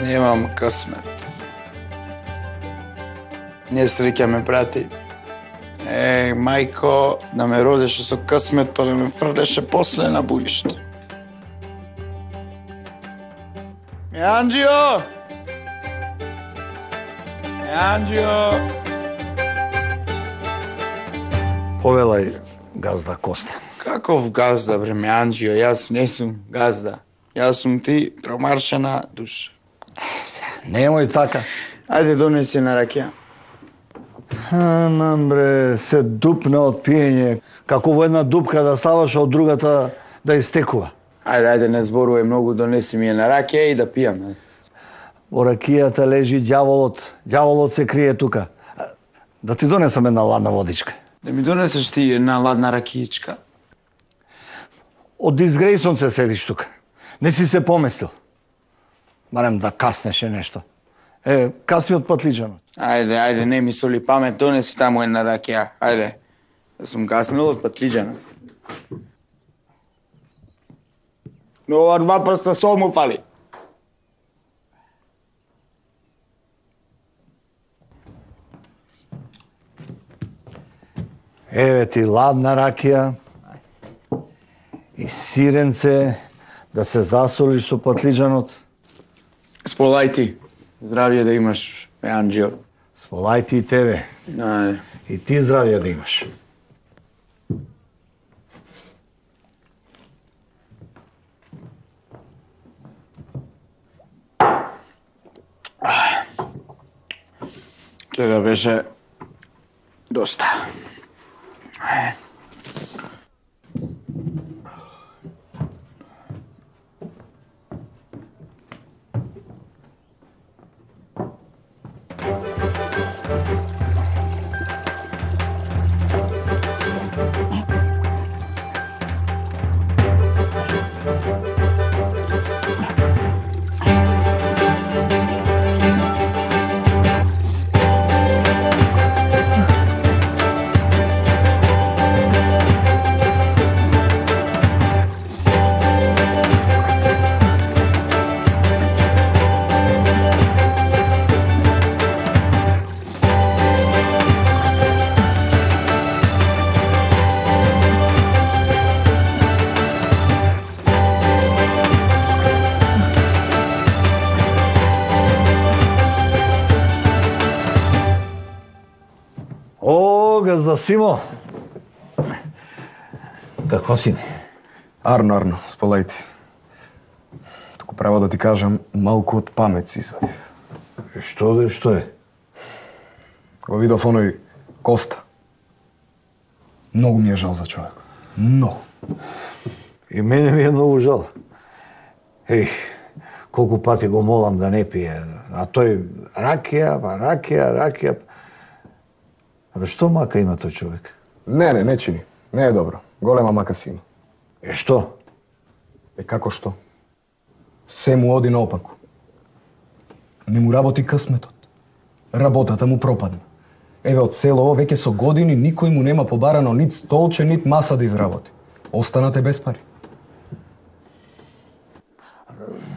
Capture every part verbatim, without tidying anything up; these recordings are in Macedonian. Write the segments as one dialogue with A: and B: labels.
A: Немам късмет. Несреќа ме прати. Е, мајко, да ме родеше со късмет, па да ме фрлеше после на буиште. Меанџио! Меанџио!
B: Повелај, газда Коста.
A: Каков газда, бре, Меанџио? Јас не сум газда. Јас сум ти, промаршена душа.
B: Немој така.
A: Ајде, донеси на ракија.
B: Амам, бре, се дупна од пиење. Како во една дупка да ставаш, од другата да истекува.
A: Ајде, ајде, не зборувај многу, донеси ми ја на ракија и да пијам.
B: Во ракијата лежи ѓаволот. Ѓаволот се крие тука. Да ти донесам една ладна водичка.
A: Да ми донесеш ти една ладна ракијичка.
B: Од дизгрејсон се седиш тука. Не си се поместил. Барем да каснеше нешто. Е, касни од патлиџанот.
A: Ајде, ајде, не ми соли памет, донеси таму една ракија. Ајде, да сум каснил од патлиџанот. Но ова два прста сол му фали.
B: Еве ти ладна ракија и сиренце да се засолиш со патлиџанот.
A: Сполај ти. Здравје да имаш, Меанџио.
B: Сполај ти и тебе.
A: Ајде.
B: И ти здравје да имаш.
A: Тоа беше доста. Ајде.
B: Газда Симо. Какво си?
C: Арно, Арно, сполај ти. Туку право да ти кажам, малку од памет си извадив.
B: Што де, што е?
C: Го видов оној Коста. Многу ми е жал за човек. Многу.
B: И мене ми е многу жал. Еј, колку пати го молам да не пие. А тој ракија, па ракија, ракија. Абе, што мака има тој човек?
C: Не, не, не чини. Не е добро. Голема мака си има.
B: Е, што?
C: Е, како што? Се му оди наопаку. Не му работи късметот. Работата му пропадна. Еве, од село веќе со години никој му нема побарано нит столче, нит маса да изработи. Останате без пари.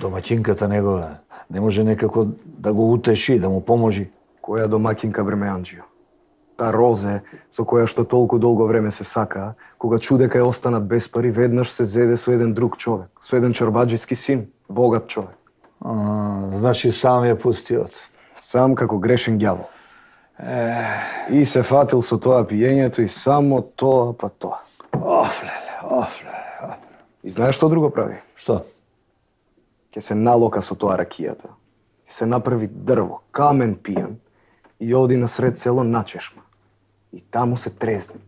B: Домаќинката негова не може некако да го утеши, да му поможи?
C: Која домаќинка, бре, Меанџио? Та Розе, со која што толку долго време се сакаа, кога чу дека ја останат без пари, веднаш се зеде со еден друг човек, со еден чорбаџиски син, богат човек.
B: А, значи сам ја пустиот.
C: Сам како грешен ѓавол. И се фатил со тоа пиењето и само тоа па тоа.
B: Оф, леле, оф, леле.
C: И знаеш што друго прави?
B: Што?
C: Ке се налока со тоа ракијата. Ке се направи дрво, камен пијан и оди на сред село на чешма. И таму се трезни.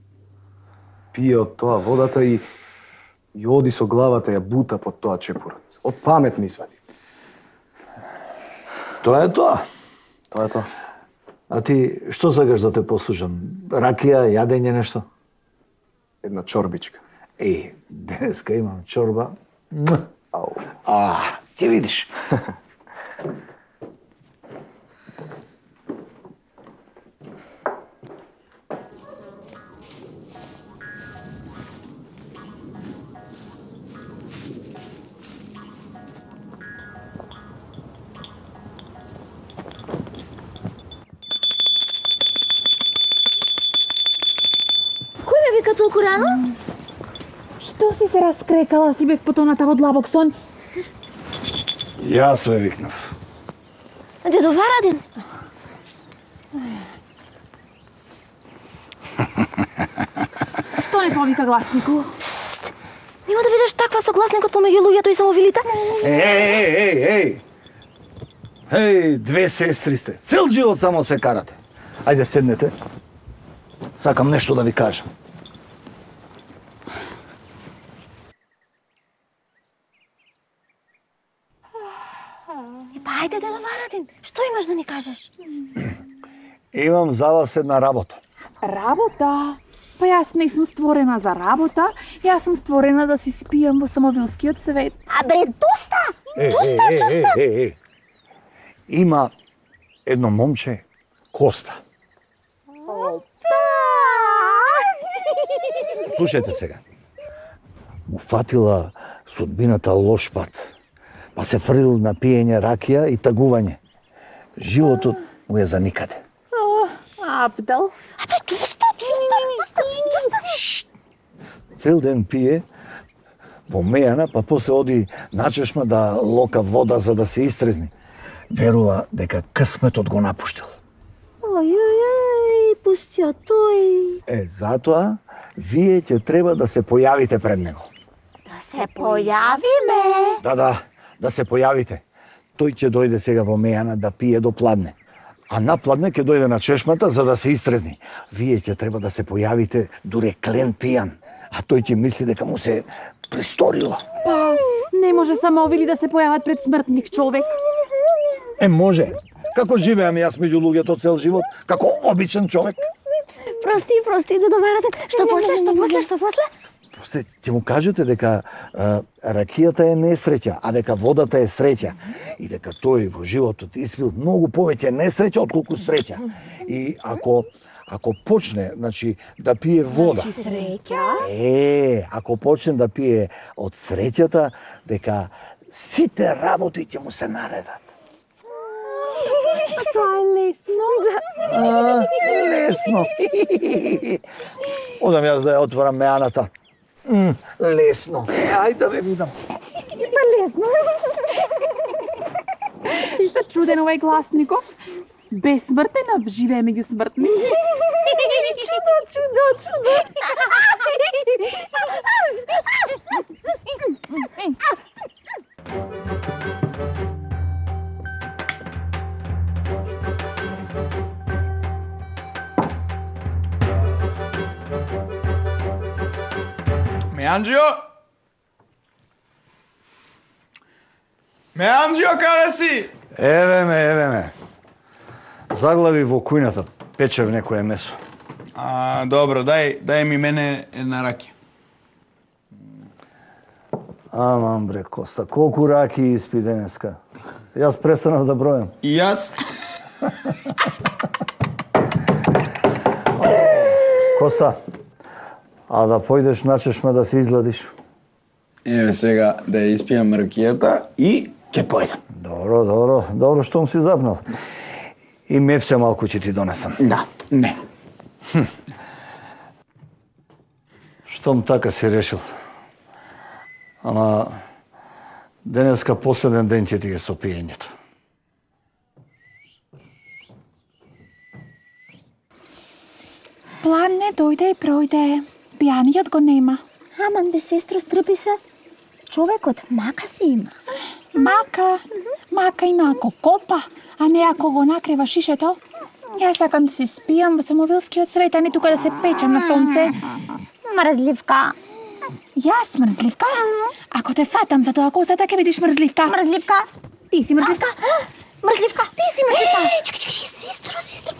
C: Пие од тоа водата и, и оди со главата ја бута под тоа чепурот. Од памет ми извади.
B: Тоа е тоа.
C: Тоа е тоа.
B: А ти што сакаш да те послушам? Ракија, јадење нешто?
C: Една чорбичка.
B: Е, денеска имам чорба.
C: Ау.
B: А, ќе видиш.
D: толку рано?
E: Што си се раскрекала, си бев потоната во длабок сон?
B: Јас ве викнав.
D: Дедо Варадин.
E: Што не повика гласнику?
D: Пст! Нема да видиш таква согласникот помеѓу луѓето и самовилите?
B: Еј, еј, еј! Еј, две сестри сте. Цел живот само се карате. Ајде седнете. Сакам нешто да ви кажам.
D: Па ајде, дедо Варадин, што имаш да ни кажеш?
B: Имам за вас една работа.
E: Работа? Па јас не сум створена за работа, јас сум створена да си спијам во самовилскиот свет.
D: А бре, доста!
B: Е,
D: Доста,
B: е, е,
D: доста!
B: е, е, е. Има едно момче, Коста. Слушајте сега. Му фатила судбината лош пат, па се фрлил на пиење ракија и тагување. Животот му е за никаде.
E: Абдел.
D: Абе, доста, доста, доста, доста.
B: Цел ден пие во мејана, па после оди на чешма да лока вода за да се истрезни. Верува дека късметот го напуштил.
D: Ој, ој, ој, пустио тој.
B: Е, затоа вие ќе треба да се појавите пред него.
D: Да се појавиме.
B: Да, да, да се појавите. Тој ќе дојде сега во мејана да пие до пладне. А на пладне ќе дојде на чешмата за да се истрезни. Вие ќе треба да се појавите дуре клен пијан. А тој ќе мисли дека му се присторило.
E: Па, не може самовили да се појават пред смртник човек.
B: Е, може. Како живеам јас меѓу луѓето цел живот, како обичен човек.
D: Прости, прости, дедо Варадин. Што после, што после, што после?
B: После ќе му кажете дека а, ракијата е несреќа, а дека водата е среќа. И дека тој во животот испил многу повеќе несреќа отколку среќа. И ако ако почне, значи, да пие вода.
D: Значи среќа?
B: Е, ако почне да пие од среќата, дека сите работи ќе му се наредат.
E: Тоа е лесно.
B: А, лесно. Одам јас да ја отворам меаната. М, лесно. Ајде да ве видам.
E: Па лесно. Што чуден овај гласников. Бесмртен, а живее меѓу смртни.
D: Чудо, чудо, чудо.
A: Меанџио? Меанџио, каде си?
B: Еве ме, еве ме. Заглави во кујната, печев некое месо.
A: А, добро, дај, дај ми мене една ракија.
B: Аман бре, Коста, колку раки испи денеска. Јас престанав да бројам.
A: И јас?
B: Коста, а да појдеш на чешма да се изладиш?
A: Еве сега да ја испијам ракијата и ќе појдам.
B: Добро, добро, добро штом си запнал. И мефсе малку ќе ти донесам.
A: Да, не.
B: Штом така си решил. Ама денеска последен ден ќе ти е со пиењето.
E: Пладне дојде и пројде. Пијаниот го нема.
D: Аман бе, сестро, стрпи се. Човекот мака си има.
E: Мака, мака има ако копа, а не ако го накрива шишето. Јас сакам да се спијам во самовилскиот свет, а не тука да се печам на сонце.
D: Мрзливка.
E: Јас мрзливка? Ако те фатам за тоа косата, ќе видиш мрзливка.
D: Мрзливка.
E: Ти си мрзливка?
D: Мрзливка.
E: Ти си мрзливка.
D: Чекай, чекай, сестро, сестро.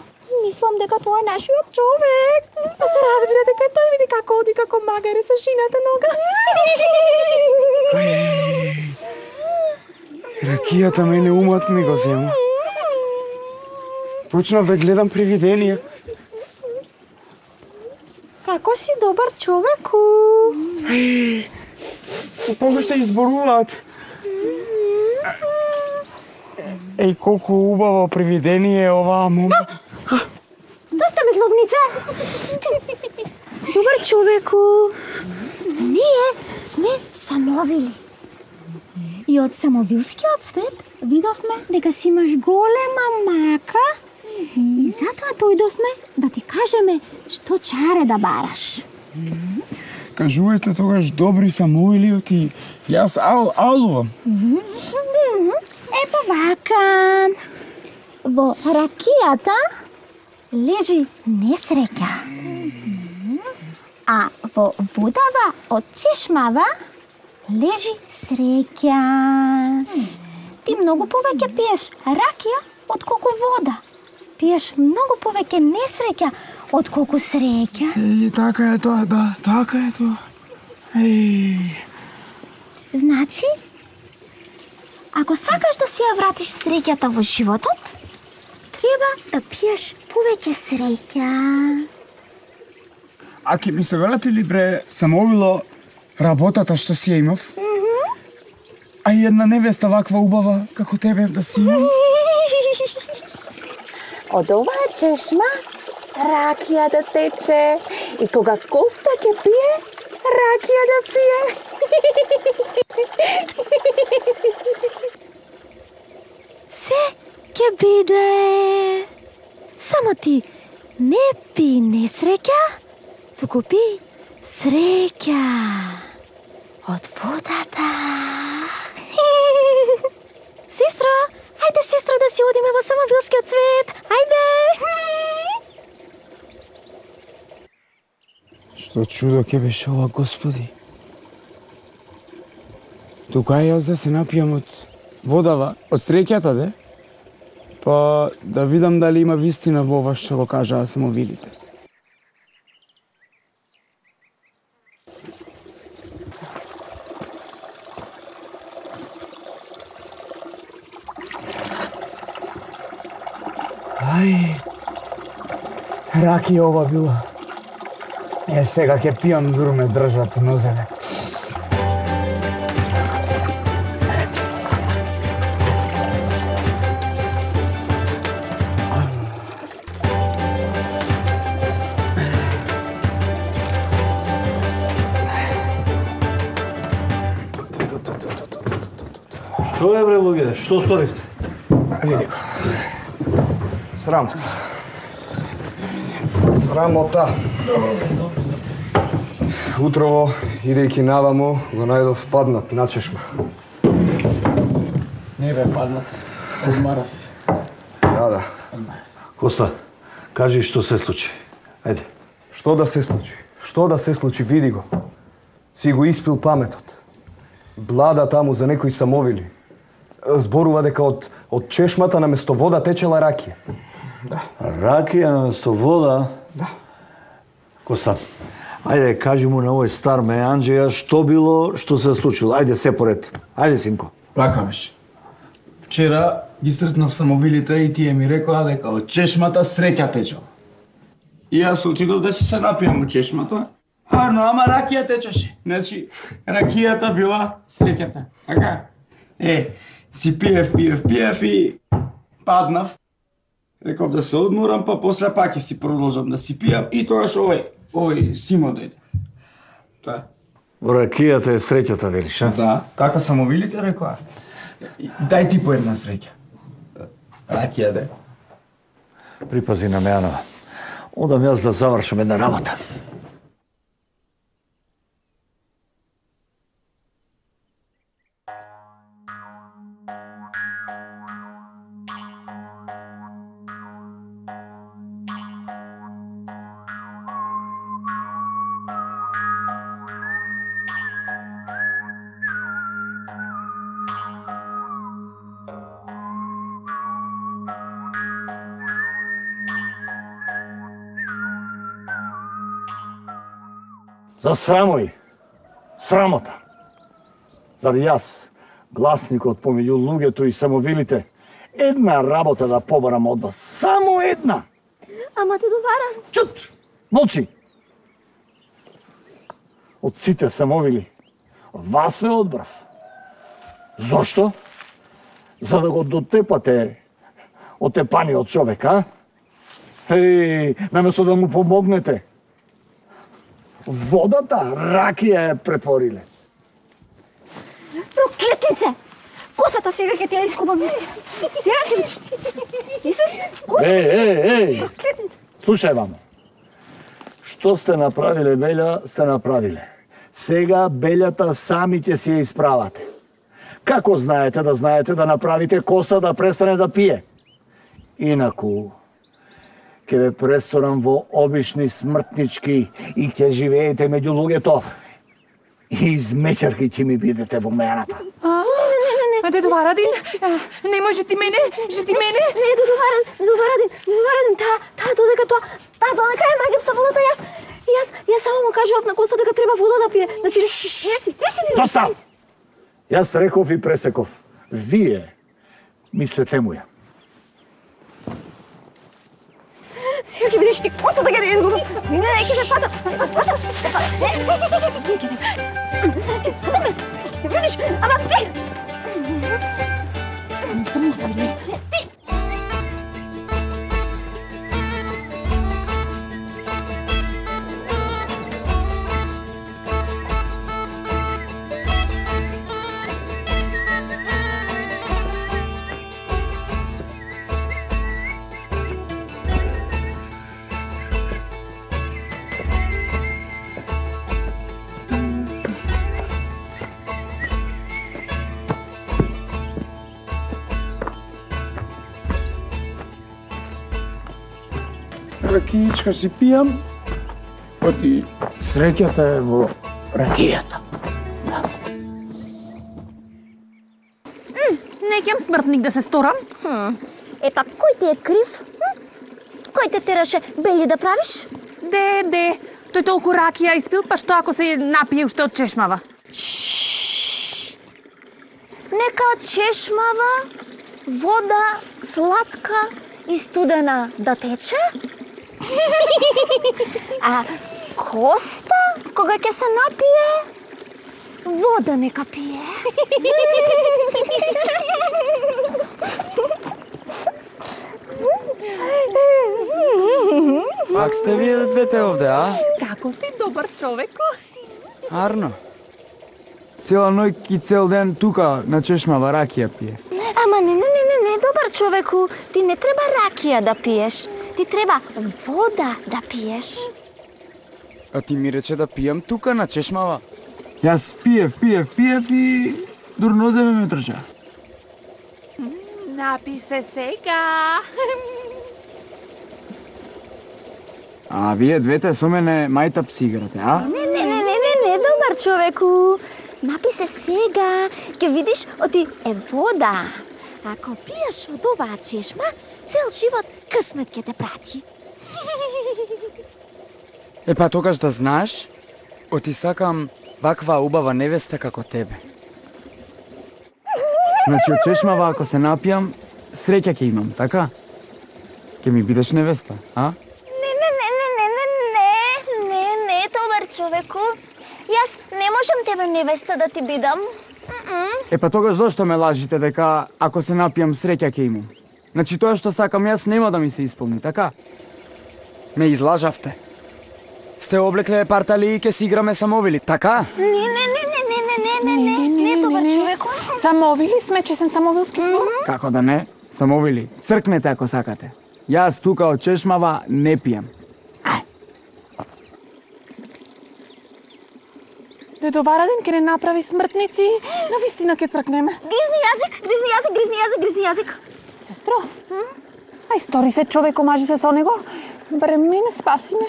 D: Мислам дека тоа е нашиот човек.
E: Па се разбира дека тој види како оди како магаре со шината нога.
F: Ракијата мене умот ми го зема. Почнав да гледам привиденија.
D: Како си добар човеку.
F: Погаште изборуваат. Еј, колку убаво привидение е оваа мома.
D: Доста ме злобница. Добар човеку. Ние сме самовили. И од самовилскиот свет видовме дека си имаш голема мака и затоа дојдовме да ти кажеме што чаре да бараш.
F: Кажувајте тогаш добри самоилиот и јас ал алувам.
D: Епа вака. Во ракијата лежи несреќа. А во водава од чешмава лежи среќа. Ти многу повеќе пиеш ракија отколку вода. Пиеш многу повеќе несреќа отколку среќа.
F: И така е тоа, да, така е тоа. Еј.
D: Значи, ако сакаш да си ја вратиш среќата во животот, треба да пиеш повеќе среќа.
F: А ке ми се вратили бре самовило работата што си ја имав? А и една невеста ваква убава како тебе да си имам?
E: Од оваа чешма ракија да тече и кога Коста ќе пие, ракија да пие.
D: Се ќе биде. Само ти не пи несреќа, туку пи среќа од водата. Сестро, ајде сестро да си одиме во самовилскиот свет. Ајде.
F: Што чудо ќе беше ова, Господи. Тука јас да се напијам од водава, од среќата, де? Па да видам дали има вистина во ова што го кажаа самовилите. Ај, ракија ова била. Е, сега ќе пијам, дур ме држат нозеве.
B: Што е, бре, луѓе? Што сторивте?
C: Види го. Срамота. Срамота. Утрово, идејќи наваму, го најдов паднат на чешма.
F: Не бе паднат, одмарав.
C: Да, да.
B: Коста, кажи што се случи. Ајде.
C: Што да се случи? Што да се случи? Види го. Си го испил паметот. Блада таму за некои самовили. Зборува дека од, од чешмата наместо вода течела ракија.
F: Да.
B: Ракија наместо вода?
F: Да.
B: Коста, ајде, кажи му на овој стар меанџеја што било, што се случило. Ајде, се поред. Ајде, синко.
A: Вака беше. Вчера ги сретнав самовилите и тие ми рекоа дека од чешмата среќа течела. И јас отидов да си се напијам од чешмата. Арно, ама ракија течеше. Значи, ракијата била среќата. Така? Е, си пиев, пиев, пиев и паднав. Реков да се одморам, па после пак ќе си продолжам да си пијам и тогаш овој, овој Симо дојде. Тоа.
B: Во ракијата е среќата, велиш, а?
A: Да, така самовилите рекоа. Дај ти по една среќа. Ракија да.
B: Припази на Мејанова. Одам јас да завршам една работа. За срамој, срамота. Зар јас, гласникот помеѓу луѓето и самовилите, една работа да побарам од вас, само една.
D: Ама те доварам.
B: Чут, молчи. Од сите самовили, вас ве одбрав. Зошто? За да го дотепате отепаниот човек, а? Еј, наместо да му помогнете. водата ракија е претвориле.
D: Проклетнице! Косата сега ќе ти ја искупам истина. Сега ќе видиш ти. Исус, кој?
B: Еј, еј, еј! Слушај, мамо. Што сте направиле, Белја, сте направиле. Сега Белјата сами ќе си ја исправате. Како знаете да знаете да направите коса да престане да пие? Инаку, ќе ве престорам во обични смртнички и ќе живеете меѓу луѓето. И измечарки ќе ми бидете во мената.
E: А, дедо Варадин, не може ти мене, же ти мене.
D: Не, дедо Варадин, дедо Варадин, дедо Варадин, таа, таа додека тоа, таа додека е магијам со водата, јас, јас, јас само му кажував на Коста дека треба вода да пие. Значи, ти си, ти си ми...
B: Доста! Јас реков и пресеков. Вие мислете му ја.
D: Сега ќе видиш ти Коста да ги не изгубам. Не, не, ќе се пата. Пата, пата. Ќе видиш, ама ти!
F: Ракиичка си пијам, оти среќата е во ракијата.
E: Не ќам смртник да се сторам.
D: Е, па кој ти е крив? Кој те тераше Бели да правиш?
E: Де, де, тој толку ракија испил, па што ако се напие уште од чешмава?
D: Нека од чешмава, вода сладка и студена да тече? А Коста, кога ќе се напие, вода нека пие.
F: Пак сте вие двете овде, а?
E: Како си добар човеко?
F: Арно. Цела ноќ и цел ден тука на чешмава ракија пие.
D: Ама не, не, не, не, не, добар човеку, ти не треба ракија да пиеш. Ти треба вода да пиеш.
F: А ти ми рече да пијам тука на чешмава. Јас пиев, пиев, пиев и дурнозе ме трча.
E: Напи се сега.
F: А вие двете со мене мајтап си играте, а?
D: Не, не, не, не, не, не, добар човеку. Напи се сега, ќе видиш, оти е вода. Ако пиеш од оваа чешма, цел живот късмет ќе те прати.
F: Е па тогаш да знаеш, оти сакам ваква убава невеста како тебе. Значи од чешмава ако се напијам, среќа ќе имам, така? Ќе ми бидеш невеста, а?
D: Не, не, не, не, не, не, не, не, не, добар човеку. Јас не можам тебе невеста да ти бидам.
F: Е па тогаш зошто ме лажите дека ако се напијам среќа ќе имам? Значи тоа што сакам јас нема да ми се исполни, така? Ме излажавте. Сте облекле партали и ќе си играме самовили, така?
D: Не, не, не, не, не, не, не, не, не, не, добар човеку.
E: Самовили сме, чесен самовилски збор.
F: Како да не? Самовили, цркнете ако сакате. Јас тука од чешмава не пијам.
E: Дедо Варадин ке не направи смртници, навистина ке цркнеме.
D: Гризни јазик, гризни јазик, гризни јазик, гризни јазик.
E: Сестро, ај стори се човек, омажи се со него. Барем не не спаси ме.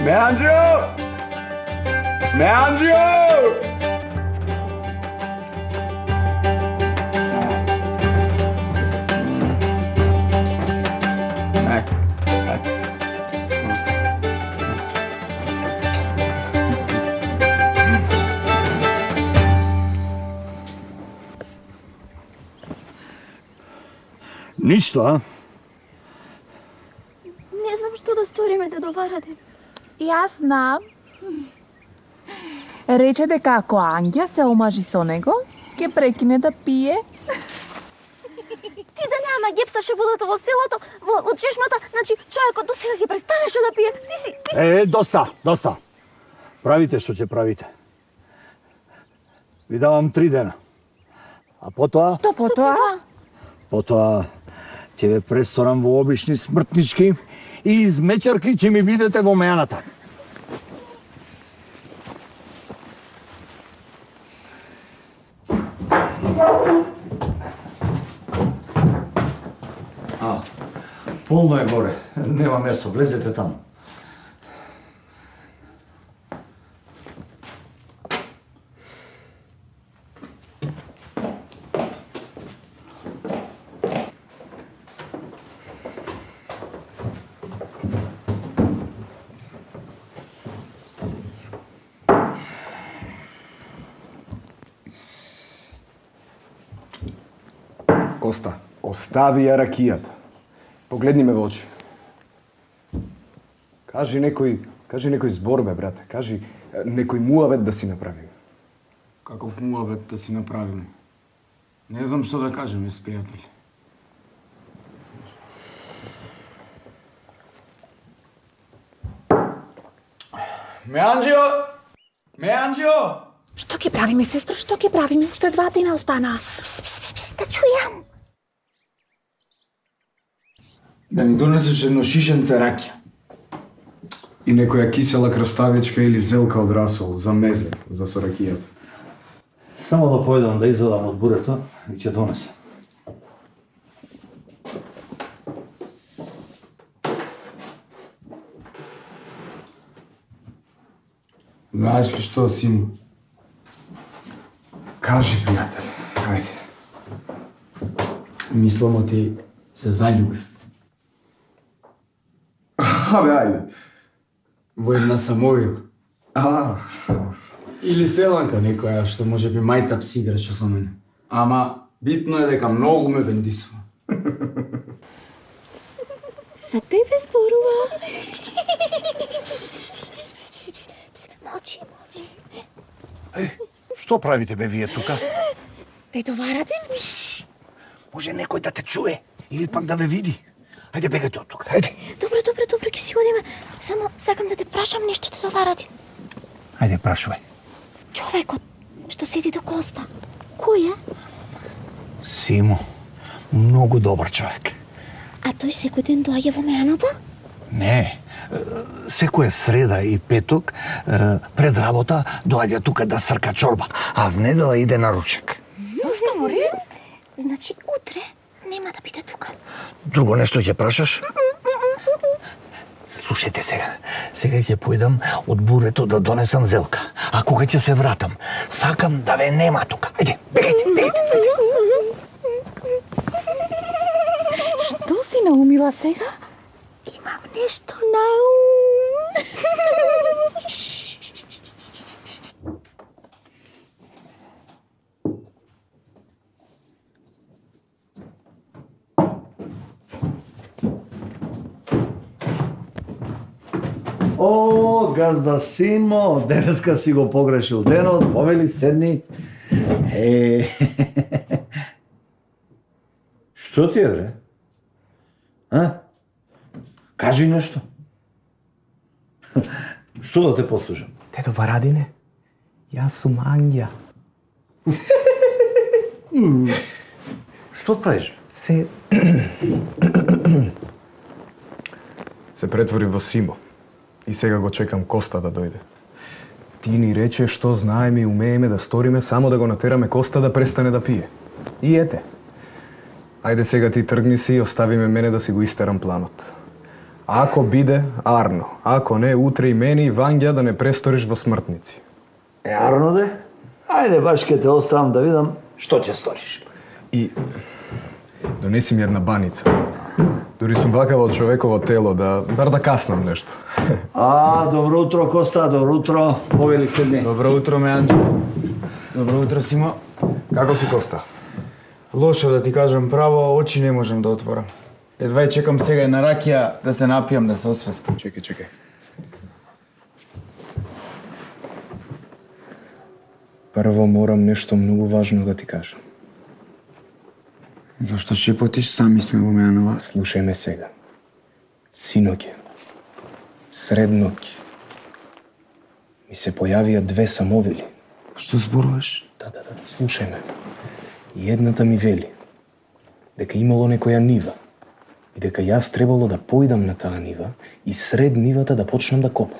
A: Меанджио! Меанджио!
B: Ништо, а?
D: Не знам што да сториме, дедо Варадин.
E: Јас знам, Рече дека ако Ангја се омажи со него, ќе прекине да пие.
D: Ти да нема гепсаше водата во селото, во, во чешмата, значи човекот до сега ќе престанеше да пие. Ти си... Ти си...
B: Е, доста, доста. Правите што ќе правите. Ви давам три дена. А потоа...
E: Што потоа?
B: Потоа ќе ве престорам во обични смртнички и измечарки ќе ми бидете во мејаната. А, полно е горе. Нема место. Влезете таму.
C: Коста, остави ја ракијата. Погледни ме во очи. Кажи некој, кажи некој збор, бе, брате. Кажи некој муавет да си направим.
F: Каков муабет да си направиме? Не знам што да кажем, ес пријатели. Меанџио! Меанџио!
E: Што ќе правиме, сестро? Што ќе правиме? Уште два дена остана.
D: Пс, пс, пс, пс, да чујам.
F: Да ни донесеш едно шишенце ракија.
C: И некоја кисела краставичка или зелка од расол за мезе, за со ракијата.
B: Само да појдам да извадам од бурето и ќе донесам.
F: Знаеш ли што, Симо?
C: Кажи, пријател, ајде.
F: Мислам ти се заљубив.
C: Абе, ајде.
F: Во една Самовил.
C: А,
F: Или селанка некоја што може би мајтап си играче со мене. Ама битно е дека многу ме бендисува.
D: За тебе зборува. Молчи, молчи.
B: Е, што правите бе вие тука?
E: Тетоварате?
B: Може некој да те чуе или пак да ве види. Ајде бегајте од тука, ајде.
D: Добро, добро, добро, ќе си одиме. Само сакам да те прашам нешто, те доваради.
B: Ајде прашувај.
D: Човекот што седи до Коста, кој е?
B: Симо, многу добар човек.
D: А тој секој ден доаѓа во мејаната?
B: Не, секоја среда и петок пред работа доаѓа тука да срка чорба, а в недела иде на ручек.
E: Зошто мори?
D: Значи утре нема да биде тука.
B: Друго нешто ќе прашаш? Слушајте сега. Сега ќе појдам од бурето да донесам зелка. А кога ќе се вратам, сакам да ве нема тука. Ајде, бегајте, бегајте, ајде.
E: Што си наумила сега?
D: Имам нешто на ум.
B: О, газда Симо, денеска си го погрешил денот, повели седни. Е, што ти е, бре? А? Кажи нешто. Што да те послушам?
C: Тето Варадине, јас сум Ангја.
B: Што правиш?
C: Се... Се претвори во Симо. И сега го чекам Коста да дојде. Ти ни рече што знаеме и умееме да сториме само да го натераме Коста да престане да пие. И ете. Ајде сега ти тргни си и оставиме мене да си го истерам планот. Ако биде, арно. Ако не, утре и мене и Вангја да не престориш во смртници.
B: Е, арно де? Ајде, баш ке те оставам да видам што ќе сториш.
C: И донеси ми една баница. Дури сум вакава од човеково тело, да бар да каснам нешто.
B: А, добро утро, Коста, добро утро. Повели седни.
F: Добро утро, Меанџо. Добро утро, Симо.
C: Како си, Коста?
F: Лошо да ти кажам право, очи не можам да отворам. Едва и чекам сега и на ракија да се напијам, да се освестам.
C: Чекај, чекај. Прво морам нешто многу важно да ти кажам.
F: Зошто шепотиш, сами сме во Мејанова.
C: Слушај ме сега. Синоќе, сред ноќ, ми се појавија две самовили.
F: Што зборуваш?
C: Да, да, да, слушај ме. И едната ми вели дека имало некоја нива и дека јас требало да поидам на таа нива и сред нивата да почнам да копам.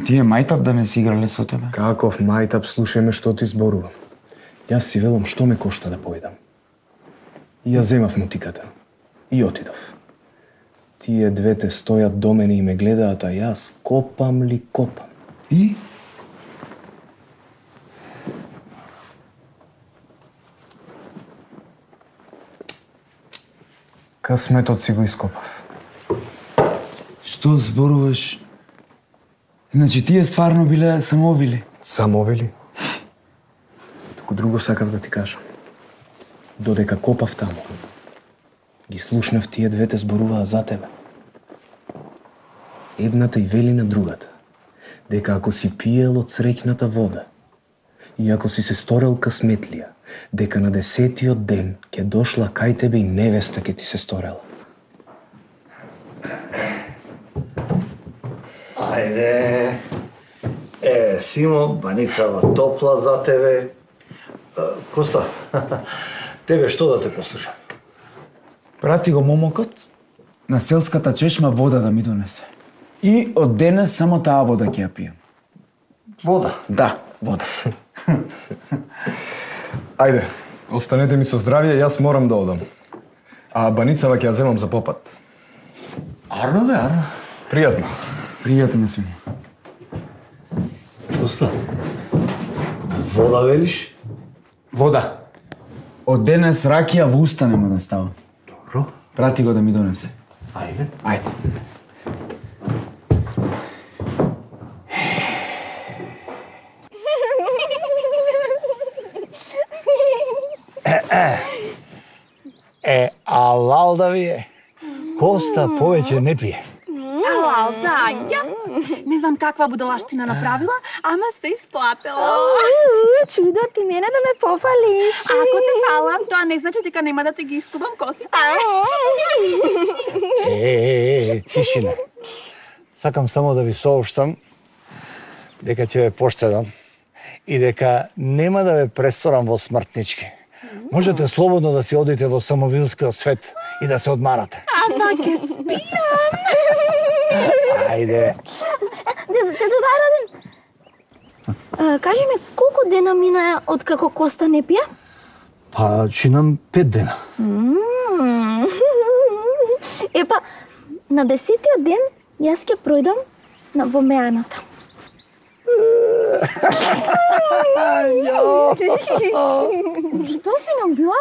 F: Тие мајтап да не си играле со тебе?
C: Каков мајтап, слушај ме што ти зборувам. Јас си велам што ме кошта да поидам. И ја земав мотиката и отидов. Тие двете стојат до мене и ме гледаат, а јас копам ли копам.
F: И?
C: Късметот си го ископав.
F: Што зборуваш? Значи тие стварно биле самовили?
C: Самовили? Туку друго сакав да ти кажам. Додека копав таму, ги слушнав тие двете зборуваа за тебе. Едната и вели на другата, дека ако си пиел од среќната вода и ако си се сторел късметлија, дека на десетиот ден ќе дошла кај тебе и невеста ќе ти се сторела.
B: Ајде. Е, Симо, баницава топла за тебе. Коста, тебе што да те послушам?
F: Прати го момокот на селската чешма вода да ми донесе. И од денес само таа вода ќе ја пијам.
B: Вода?
F: Да, вода.
C: Ајде, останете ми со здравје, јас морам да одам. А баницава ќе ја земам за попат.
B: Арно бе, арно.
C: Пријатно.
F: Пријатно си.
B: Коста, вода велиш?
F: Вода. Од денес ракија во уста нема да ставам.
B: Добро.
F: Прати го да ми донесе.
B: Ајде.
F: Ајде.
B: Е, а Лалда ви е. Коста повеќе не пие.
E: Ала, Зања, не знам каква будалаштина направила, ама се исплатела.
D: Чудо, ти мене да ме пофалиш.
E: Ако те фалам, тоа не значи дека нема да те ги искубам косите.
B: Е, е, е, тишина. Сакам само да ви сообштам дека ќе ве поштедам и дека нема да ве престорам во смртнички. Можете слободно да си одите во самовилскиот свет и да се одмарате.
E: Ама ќе спијам.
B: Ајде.
D: Дедо Вараден, кажи ме, колку дена мина од како Коста не пија?
B: Па, чинам пет дена.
D: Епа, на десетиот ден јас ќе пројдам на во Мејаната.
E: Што си нам била?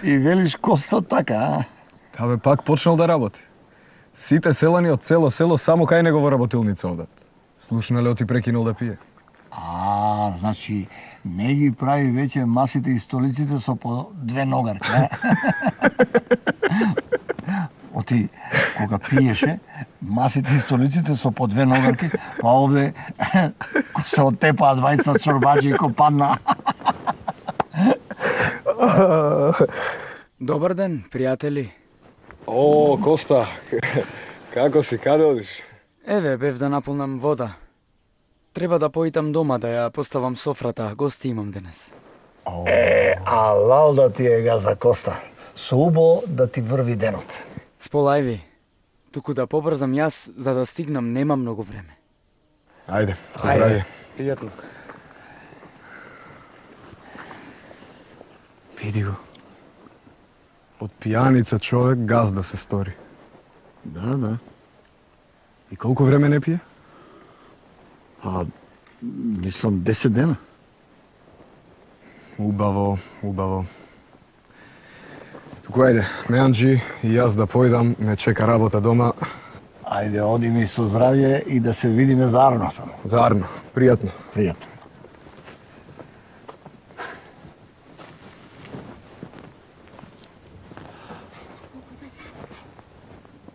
B: И велиш Коста така, а?
C: Абе, пак почнал да работи. Сите селани од цело село само кај него во работилница одат. Слушнале оти прекинул да пие.
B: А, значи, не ги прави веќе масите и столиците со по две ногарки, а? Оти, кога пиеше, масите и столиците со по две ногарки, па овде се оттепаа двајца чорбаџи и копанна.
F: Добар ден, пријатели.
C: О, Коста, како си, каде одиш?
F: Еве, бев да наполнам вода. Треба да поитам дома да ја поставам софрата, гости имам денес.
B: Е, а Лалда ти е газа, Коста. Со убо да ти врви денот.
F: Сполајви, туку да побрзам јас, за да стигнам, нема многу време.
C: Ајде, со здравје.
B: Пријатно.
C: Види го. Од пијаница човек газда се стори.
B: Да, да.
C: И колку време не пие?
B: А, мислам, десет дена.
C: Убаво, убаво. Туку ајде, Меанджи и јас да појдам, ме чека работа дома.
B: Ајде, оди ми со здравје и да се видиме заарно само.
C: Заарно, пријатно.
B: Пријатно.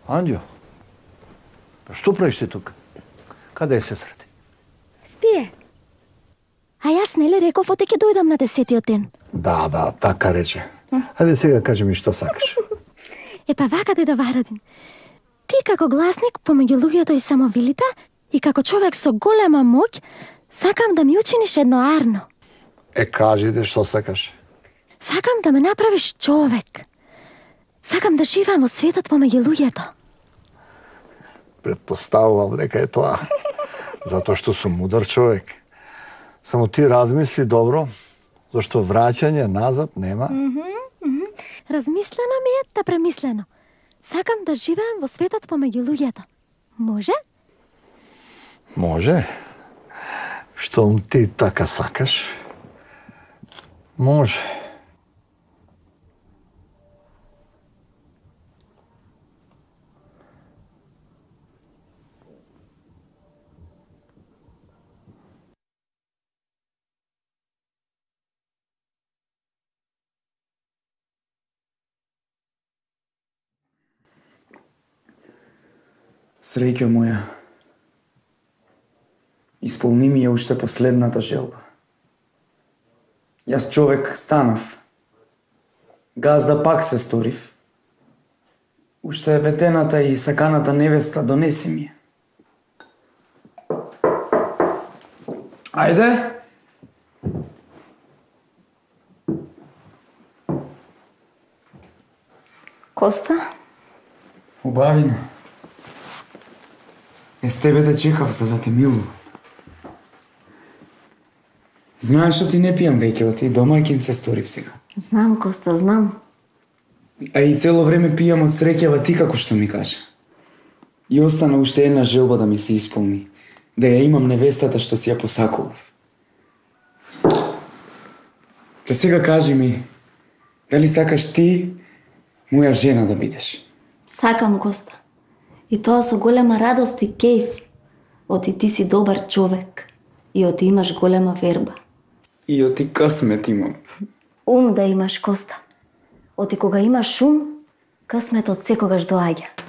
B: Анđо, па што правиш ти тука? Каде е сестра ти?
D: Спие. А јас нели реков оте ќе дојдам на десетиот ден.
B: Да, да, така рече. Ајде сега кажи ми што сакаш.
D: Е па вака де да Варадин. Ти како гласник помеѓу луѓето и самовилите и како човек со голема моќ, сакам да ми учиниш едно арно.
B: Е, кажи де што сакаш.
D: Сакам да ме направиш човек. Сакам да живеам во светот помеѓу луѓето.
B: Предпоставувам дека е тоа. Затоа што сум мудар човек. Само ти размисли добро, зашто враќање назад нема.
D: Размислено ми е, да премислено. Сакам да живеам во светот помеѓу луѓето. Може?
B: Може. Штом ти така сакаш. Може.
F: Среќо моја, исполни ми ја уште последната желба. Јас човек станав. Газда пак се сторив. Уште ветената и саканата невеста донеси ми. Ајде!
D: Коста?
F: Убавина. Е, с тебе те чекав за да те милувам. Знаеш што ти не пијам веќе, оти домаќин се сторив сега.
D: Знам, Коста, знам.
F: А и цело време пијам од среќава ти како што ми кажа. И остана уште една желба да ми се исполни. Да ја имам невестата што си ја посакував. Та сега кажи ми, дали сакаш ти моја жена да бидеш?
G: Сакам, Коста. И тоа со голема радост и кејф. Оти ти си добар човек. И оти имаш голема верба.
F: И оти късмет имам.
G: Ум да имаш, Коста. Оти кога имаш ум, късметот секогаш доаѓа.